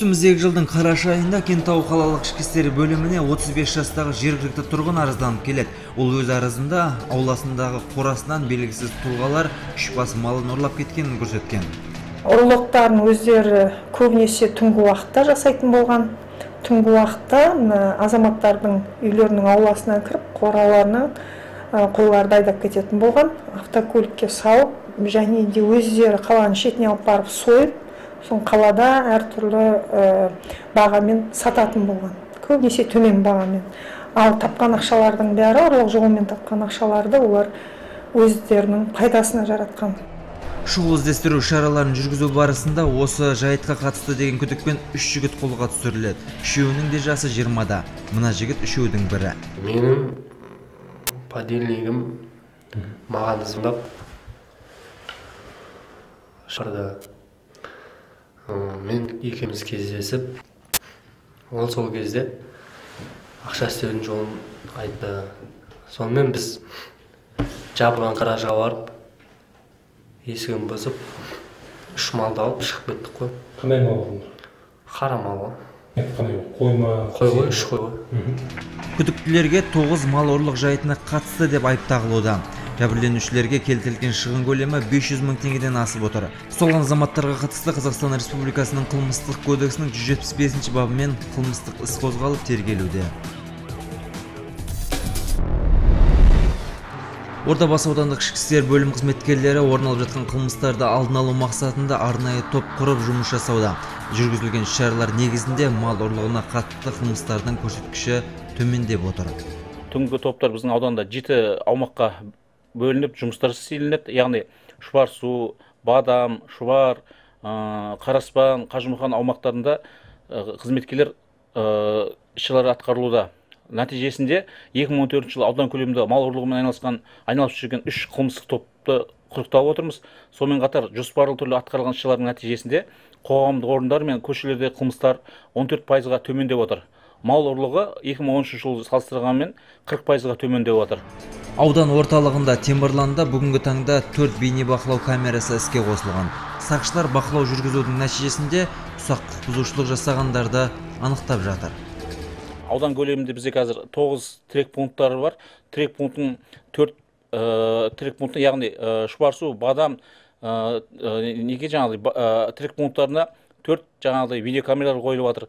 Үстіміздегі жылдың қараша айында Кентау қалалық ішкі істер бөліміне 35 жастағы жергілікті тұрғын арызданып келеді. Ол өз арызында ауласындағы қорасынан белгісіз тұлғалар 3 бас малын ұрлап кеткенін көрсеткен. Ұрлықтарын өздері көбінесе түнгі уақытта жасайтын болған. Түнгі уақытта азаматтардың үйлерінің ауласынан кіріп, қораларынан қойларды айдап кететін болған. Автокөлікке салып, және де өздері қаланың шетіне алып барып сойып, соң қалада әртүрлі бағамен сататын болған. Көбінесе төмен бағамен. Ал тапқан ақшалардың бәрі, ұрлық жолымен тапқан ақшаларды олар өздерінің пайдасына жаратқан. Шұғыл іздестіру шараларын жүргізу барысында осы жайтқа қатысты деген күдікпен 3 жігіт қолға түсіріледі. Үшеуінің де жасы 20-да. Мына жігіт үшеудің бірі. Менің подельнигім маған звондап шарды. Мен екеуміз кездесіп, ол сол кезде ақша істеудің жолын айтты. Сонымен біз жабылған гаражға барып, есігін бұзып, 3 малды алып шығып кеттік қой. Қандай мал болды? Қара мал. Қандай қойма? Қой ғой, 3 қой ғой. Күдіктілерге 9 мал ұрлық жайтына қатысты деп айып тағылуда. Жәбірленушілерге келтірілген шығын көлемі 500 мың теңгеден асып отыр. Ұсталған азаматтарға қатысты Қазақстан Республикасының қылмыстық кодексінің 175 бабымен қылмыстық іс қозғалып тергелуде. Ордабасы аудандық ішкі істер бөлім қызметкерлері орын алып жатқан қылмыстарды алдын алу мақсатында арнайы топ құрып жұмыс жасауда. Жүргізілген шаралар негізінде мал ұрлығына қатысты қылмыстардың көрсеткіші төмендеп отыр. Түнгі топтар біздің ауданда 7 аумаққа бөлініп жұмыстар істелінеді. Яғни Шұбар су, Бадам, Шұбар, Қараспан, Қажымұқан аумақтарында қызметкерлер іс-шаралар атқарылуда. Нәтижесінде 2014 жылы аудан көлемінде мал ұрлығымен айналысып жүрген 3 қылмыстық топты құрықтап отырмыз. Сонымен қатар жоспарлы түрде атқарылған іс-шаралардың нәтижесінде қоғамдық орындар мен көшелерде қылмыстар 14%-ға төмендеп отыр. Мал ұрлығы 2013 жылы салыстырғанмен 40%-ға төмендеп отыр. Аудан орталығында Темірланда бүгінгі таңда 4 бейнебақылау камерасы іске қосылған. Сақшылар бақылау жүргізудің нәтижесінде ұсақ құқық бұзушылық жасағандарды анықтап жатыр. Аудан көлемінде бізде қазір 9 тірек пункттары бар. Тірек пунктың 4 тірек пункты, яғни Шұбарсу, Бадам, неге жаңағыдай тірек пункттарына 4 жаңағыдай видеокамералар қойылып жатыр.